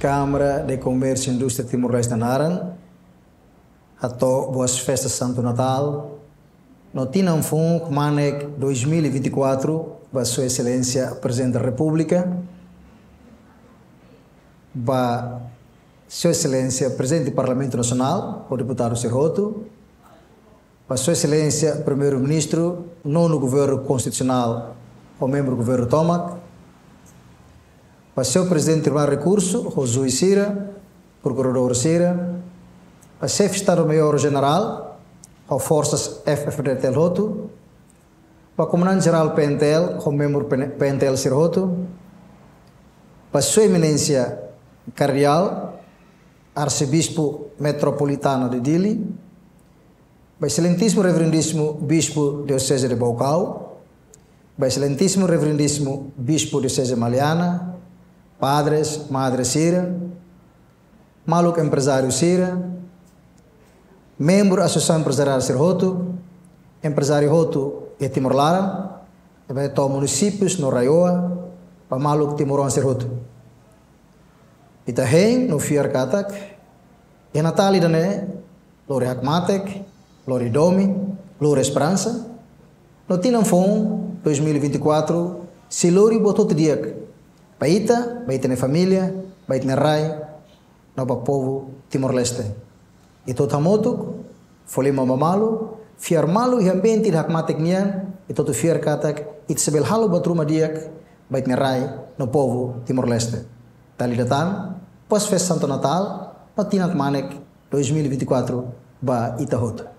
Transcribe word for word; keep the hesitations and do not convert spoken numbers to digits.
Câmara de Comércio e Indústria Timor-Leste nia naran, hato'o boas festas Santo Natal no tinan foun kmanek dois mil e vinte e quatro ba Sua Exelénsia Prezidente da Repúblika, ba Sua Exelénsia Prezidente Parlamentu Nasionál ho deputadu sira hotu, ba Sua Exelénsia Primeiru-Ministru, Nonu Governu Konstitusionál ho membru governu tomak, ba Señór Prezidente Tribunál Rekursu ho juís sira, prokuradór sira, ba Xefe Estadu Maiór Jenerál ho forsas F-FDTL hotu, ba Komandante Jerál P N T L ho membru P N-, P N T L sira hotu, ba Sua Eminénsia Kardeál Arsebispu Metropolitanu de Dili, ba Exelentísimu Reverendísimu Bispu Dioseze de Baucau, ba Exelentísimu Reverendísimu Bispu Dioseze Maliana, padres, madres sira, maluk emprezáriu sira, membru asosiasaun emprezariál sira hotu, emprezáriu hotu iha Timor laran, ne'ebé to'o munisípius no RAEOA, ba maluk timoroan sira hotu. Ita hein no fiar katak iha Natál ida-ne'e, lori hakmatek, lori domin, lori esperansa, no tinan foun dois mil e vinte e quatro sei lori buat hotu di'ak ba ita, ba ita-nia família, ba ita-nia rai, no ba povu Timor-Leste. Ita hotu hamutuk fó liman ba malu, fiar malu iha ambiente ida hakmatek nian, ita hotu fiar katak ita sei bele halo buat ruma di'ak ba ita-nia rai no povu Timor-Leste. Dala ida tan, boas festas Santo Natal no tinan kmanek dois mil e vinte e quatro ba ita hotu.